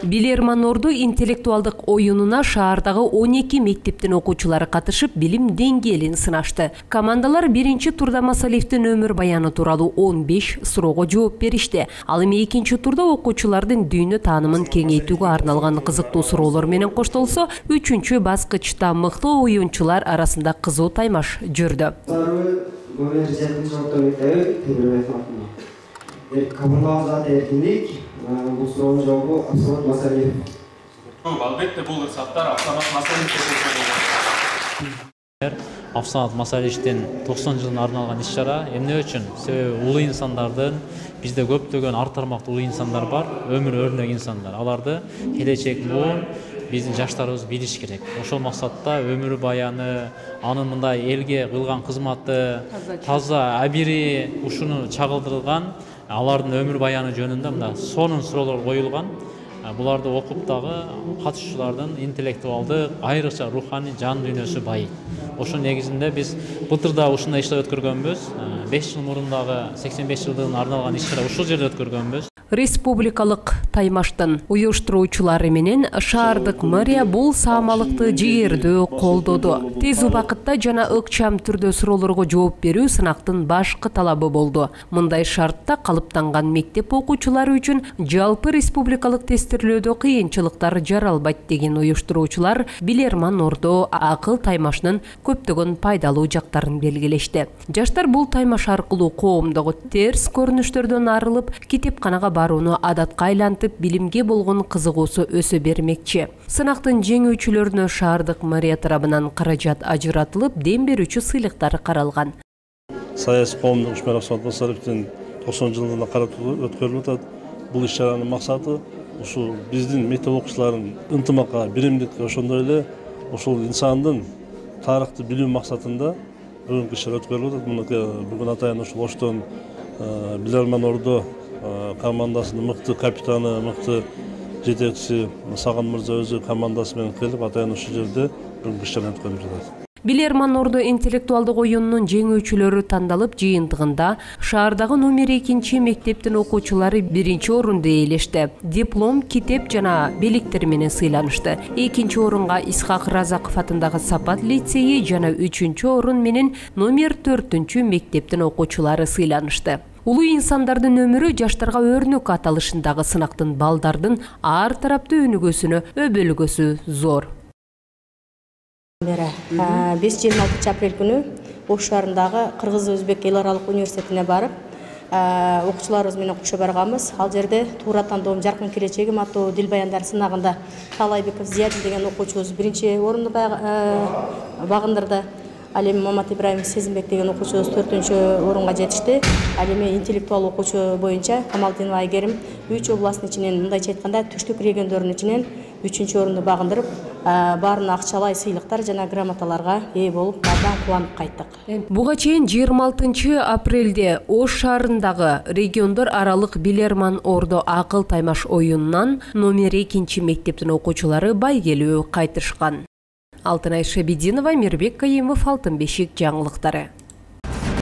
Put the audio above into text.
Билерман Орду интеллектуалдык оюнуна шаардагы 12 мектептин окуучулары катышып, билим деңгээлин сынашты. Командалар биринчи турда Масалиевдин өмүр баяны тууралуу 15 суроого жооп беришти. Ал эми экинчи турда окуучулардын дүйнө таанымын кеңейтүүгө арналган кызыктуу суроолор менен коштолсо, үчүнчү баскычта мыктуу оюнчулар арасында кызуу таймаш жүрдү. Bu sorunun cevabı Absalat Masaliyev. Albatta bu ırsatlar Absalat Masaliyev. Абсалат Масалиевдин 90 жылына арналган иш-чара эмне үчүн? Себеби улуу инсандардын бизде көптөгөн ар тармактуу улуу инсандар бар, өмүр өрнөк инсандар. Аларды келечек буун биздин жаштарыбыз билиш керек. Ошол максатта өмүр баяны, анын мындай элге кылган кызматы, таза абири ушуну чагылдырылган алардын өмүр баяны жөнүндө мына сонун суроолор коюлган. Буларды окуп дагы катышуучулардын интеллектуалдык, айрыкча руханий жан дүйнөсү байыйт. Ошонун негизинде биз былтырда ушундай иштер өткөргөнбүз. 5 жыл мурун дагы 85 жылдыгына арналган иш-чара ушул жерде өткөргөнбүз. Республикалык таймаштын уюштуруучулары менен шаардык мэрия бул саамалыкты жигердүү колдоду. Тез убакытта жана ыкчам түрдө суроолорго жооп берүү сынактын башкы талабы болду. Мындай шартта калыптанган мектеп окуучулары үчүн жалпы республикалык тестирлөөдө кыйынчылыктар жаралбайт деген уюштуруучулар Билерман Ордо акыл таймашынын көптөгөн пайдалуу жактарын белгилешти. Жаштар бул таймаш аркылуу коомдогу терс көрүнүштөрдөн арылып, китепканага барууну адатка айлантып, билимге болгон кызыгуусу өсө бермекчи. Сынактын жеңүүчүлөрүнө шаардык мэрия тарабынан каражат ажыратылып, дем берүүчү сыйлыктар каралган. Саясий коомдук ишмер Абсалат Масалиевдин 90 жылдыгына каратып өткөрүлүп атат. Бул иш-чаранын максаты ушул биздин мектеп окуучуларынын ынтымакка, биримдикке, ошондой эле ушул инсандын тарыхты билүү максатында бүгүнкү иш-чара өткөрүлүп атат. Бүгүн атайын ушул Оштон Билерман Ордо командасынын мыкты капитаны, мыкты жетекчиси Саган мырза өзү командасы менен келип, атайын ушул жерде бүгүнкү иш-чара өткөрүлүп жатат. Билерман Ордо интеллектуалдык оюнунун жеңүүчүлөрү тандалып, жыйынтыгында шаардагы номер 2 мектептин окуучулары 1 орунду ээлешти. Диплом, китеп жана белектер менен сыйланышты. 2 орунга Исхак Разаков атындагы Сапат лицейи жана 3 орун менен номер 4 мектептин окуучулары сыйланышты. Улуу инсандардын өмүрү жаштарга өрнөк аталышындагы сынактын балдардын ар тараптуу өнүгүүсүнө өбөлгөсү зор. 5-26 апрель күнү Ош шаарындагы Кыргыз-Өзбек эл аралык университетине барып, окуучуларыбыз менен кошо барганбыз. Ал жерде туура тандоом жаркын келечегим аттуу дил баяндар сынагында Талайбеков Зиядин деген окуучубуз 1 орунду багындырды. Ал эми Мамат Ибраимов Сезимбек деген окуучубуз 4 орунга жетишти. Ал эми интеллектуал окуучу боюнча Камалдинова Айгерим 3 областтын ичинен, мындайча айтканда түштүк региондордун ичинен 3 орунду багындырып, баарына акчалай сыйлыктар жана грамоталарга ээ болуп, абдан кубанып кайттык. Буга чейин 26 апрелде Ош шаарындагы региондор аралык Билерман Ордо акыл таймаш оюнунан номер 2 мектептин окуучулары байгелүү кайтышкан. Алтынай Шабидинова, Мирбек Кайымов, Алтын бешик жаңылыктары.